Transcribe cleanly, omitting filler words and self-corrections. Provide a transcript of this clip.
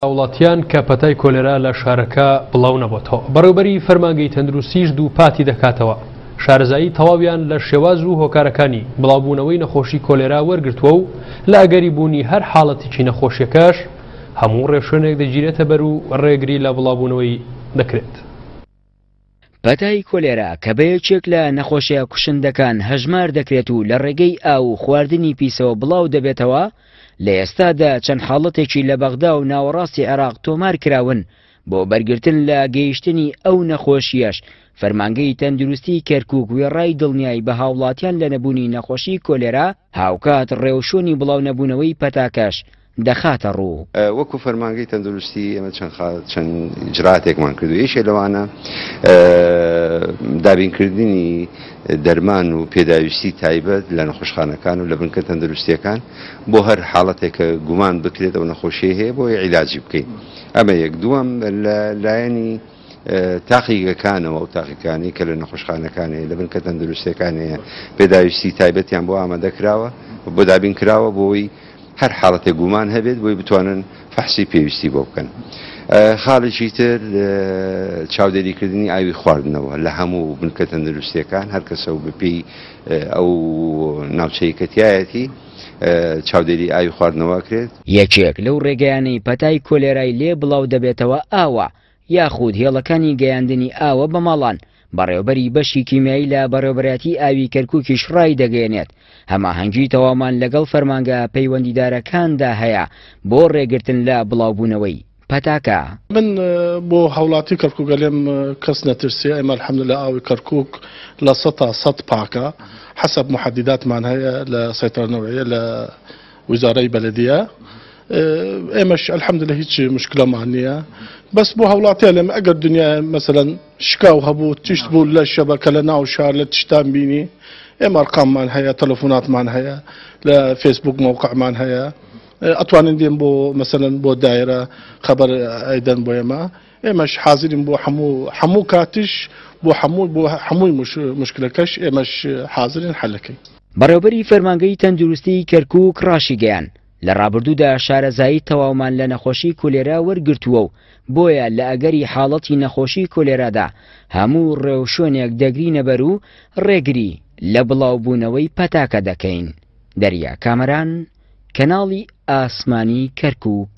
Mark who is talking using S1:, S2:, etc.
S1: هاوڵاتیان کە پەتای کۆلێرا لە شارەکە بڵاو نەبۆتەوە. بەڕێوبەری فەرمانگەی تەندروستیش دووپاتی دەکاتەوە، شارەزایی تەواویان لە شێواز و هۆکارەکانی بڵاوبوونەوەی نەخۆشی کۆلێرا وەرگرتووە و لە ئەگەری بوونی هەر حاڵەتێکی نەخۆشیەکەش هەموو ڕێوشوێنێک دەگیرێتە بەر و ڕێگری لە بڵاوبوونەوەی دەکرێت.
S2: پەتای کۆلێرا کە بە یەکێک لە نەخۆشیە کوشندەکان هەژمار دەکرێت و لە ڕێگەی ئاو و خواردنی پیسەوە بڵاو دەبێتەوە، لە ئێستادا چەند حاڵەتێکی لە بەغدا و ناوەڕاستی عێراق تۆمار کراون، بۆ بەرگرتن لە گەیشتنی ئەو نەخۆشییەش فەرمانگەی تەندروستی کەرکوک وێڕای دڵنیایی بە هاوڵاتیان لە نەبوونی نەخۆشی کۆلێرا، هاوکات ڕێوشوێنی بڵاونەبوونەوەی پەتاکەش دەخاتە ڕوو.
S3: وەکو فەرمانگەی تەندروستی ئێمە چەند چەند ئیجراتێکمان کردو یەکێ لەوانە دابینکردنی دەرمان و پێداویستی تایبەت لە نەخۆشخانەکان و لە بنکە تەندروستیەکان بۆ هەر حاڵەتێک کە گومان بکرێت ئەو نەخۆشیەی هەیە بۆی عیلاجی بکەین ئەمە یەک دووەم لە لایەنی تاقیگەکانەوە ئەو تاقیگانەی کە لە نەخۆشخانەکان هەیە لە بنکە تەندروستیەکان هەیە پێداویستی تایبەتیان بۆ ئامادە کراوە بۆ دابین کراوە بۆی هەر حاڵەتێک گومان هەبێت بۆی بتوانن فەحسی پێویستی بۆ بکەن. خاڵێکی تر چاودێریکردنی ئاوی خواردنەوە لە هەموو بنکە تەندروستیەکان هەر کەسە و بەپێی ئەو ناوچەی کە تیایەتی چاودێری ئاوی خواردنەوە ئەکرێت.
S2: یەکێک لەو ڕێگەیانەی پەتای کۆلێرای لێ بڵاو دەبێتەوە ئاوە، یاخود هێڵەکانی گەیاندنی ئاوە بە ماڵان، بەڕێوەبەری بەشی کیمیایی لە بەڕێوەبەرایەتی ئاوی کەرکوکیش ڕایدەگەیەنێت، هەماهەنگی تەواومان لەگەڵ فەرمانگە پەیوەندیدارەکاندا هەیە بۆ ڕێگرتن لە بڵاوبوونەوەی پەتاکە.
S4: من بۆ هاوڵاتی کەرکوک ئەلێم کەس نەترسێ ئێمە الحمدللە ئاوی کەرکوک 100% پاکە حەسەب محەدیداتمان هەیە لە سەیتەرە نەوعیە لە وزارەی بەلەدیە ئێمەش الحمدللە هیچ مشکلەمان نییە بەس بۆ هاوڵاتی ئەلێم ئەگەر دنیا مەسەلەن شکاو هەبوو تشت بوو لە شەبەکە لە ناو شار لە تشتان بینی ئێمە ئەرقاممان هەیە تەلەفۆناتمان هەیە لە فێسبوک مەوقعمان هەیە ئەتوانن دێن بۆ مەسەلەن بۆ دایرە خەبەر ئەیدەن بۆ ئێمە ئێمەش حازرین بۆ هەموو هەموو کاتیش بۆ هەموو بۆ هەمووی مشکلەکەش ئێمەش حازرین حەلەکەین.
S2: بەڕێوبەری فەرمانگەی تەندروستیی کەرکووک ڕاشیگەیاند، لە ڕابردوودا شارەزایی تەواومان لە نەخۆشی کولێرا وەرگرتووە و بۆیە لە ئەگەری حاڵەتی نەخۆشی کۆلێرادا هەموو ڕێوشوێنێک دەگرینەبەر و ڕێگری لە بڵاوبوونەوەی پەتاکە دەکەین. دەریا کامەران، کەناڵی ئاسمانی کەرکووک.